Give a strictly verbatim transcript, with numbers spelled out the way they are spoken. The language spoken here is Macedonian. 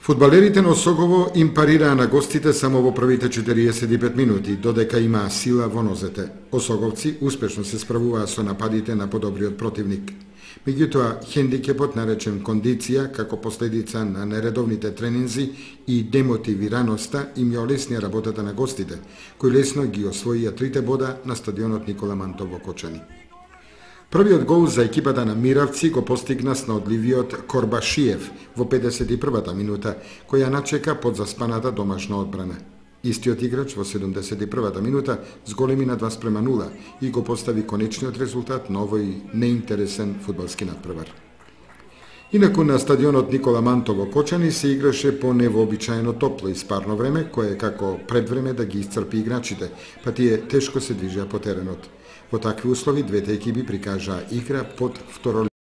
Фудбалерите на Осогово им парираа на гостите само во првите четириесет и пет минути, додека имаа сила во нозете. Осоговци успешно се справуваа со нападите на подобриот противник. Меѓутоа, хендикепот наречен кондиција, како последица на нередовните тренинзи и демотивираноста, им ја олеснија работата на гостите, кои лесно ги освоија трите бода на стадионот Никола Мантов во Кочани. Првиот гол за екипата на Миравци го постигна снаодливиот Корбашиев во педесет и првата минута, која начека под заспаната домашна одбрана. Истиот играч во седумдесет и првата минута зголеми на два спрема нула и го постави конечниот резултат на овој неинтересен фудбалски надпревар. Инаку на стадионот Никола Мантов во Кочани се играше по невообичаено топло и спарно време, кое како предвреме да ги исцрпи играчите, па тие тешко се движеа по теренот. Во такви услови двете екипи прикажаа игра под второ